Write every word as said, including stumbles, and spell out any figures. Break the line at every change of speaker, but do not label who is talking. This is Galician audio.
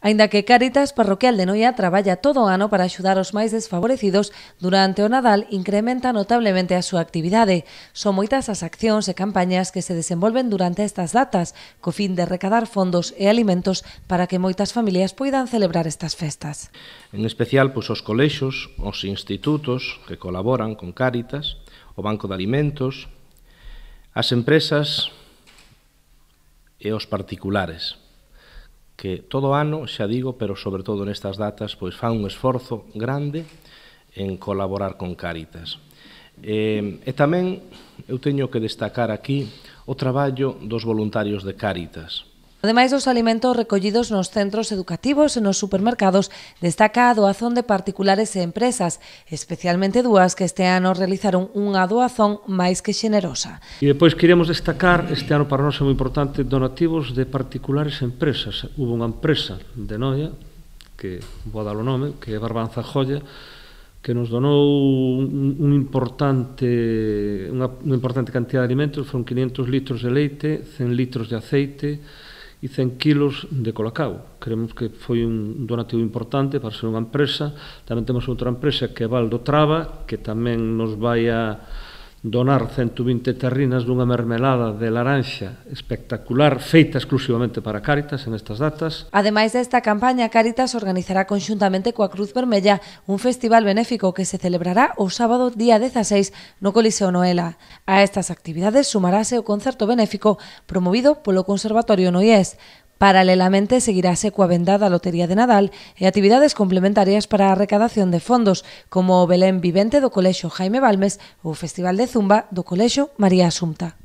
Aínda que Cáritas Parroquial de Noia traballa todo o ano para axudar os máis desfavorecidos, durante o Nadal incrementa notablemente a súa actividade. Son moitas as accións e campañas que se desenvolven durante estas datas, co fin de recadar fondos e alimentos para que moitas familias poidan celebrar estas festas.
En especial, pois, os colexos, os institutos que colaboran con Cáritas, o Banco de Alimentos, as empresas e os particulares, que todo o ano, xa digo, pero sobre todo nestas datas, pois fan un esforzo grande en colaborar con Cáritas. E, e tamén eu teño que destacar aquí o traballo dos voluntarios de Cáritas.
Ademais dos alimentos recollidos nos centros educativos e nos supermercados, destaca a doazón de particulares e empresas, especialmente dúas que este ano realizaron unha doazón máis que xenerosa.
E depois queríamos destacar, este ano para nós é moi importante, donativos de particulares e empresas. Hubo unha empresa de Noia, que vou dar o nome, que é Barbanza Joya, que nos donou un, un importante, unha, unha importante cantidad de alimentos, foron quinientos litros de leite, cen litros de aceite e cen kilos de colacao. Creemos que foi un donativo importante para ser unha empresa. Tamén temos outra empresa que é Valdo Traba, que tamén nos vai a donar ciento vinte terrinas dunha mermelada de laranxa espectacular, feita exclusivamente para Cáritas en estas datas.
Ademais desta campaña, Cáritas organizará conxuntamente coa Cruz Vermella un festival benéfico que se celebrará o sábado día dezaseis no Coliseo Noela. A estas actividades sumarase o concerto benéfico promovido polo Conservatorio Noiés. Paralelamente, seguirase coa venda da Lotería de Nadal e actividades complementarias para a recadación de fondos, como o Belén Vivente do Colexio Jaime Balmes ou o Festival de Zumba do Colexio María Asunta.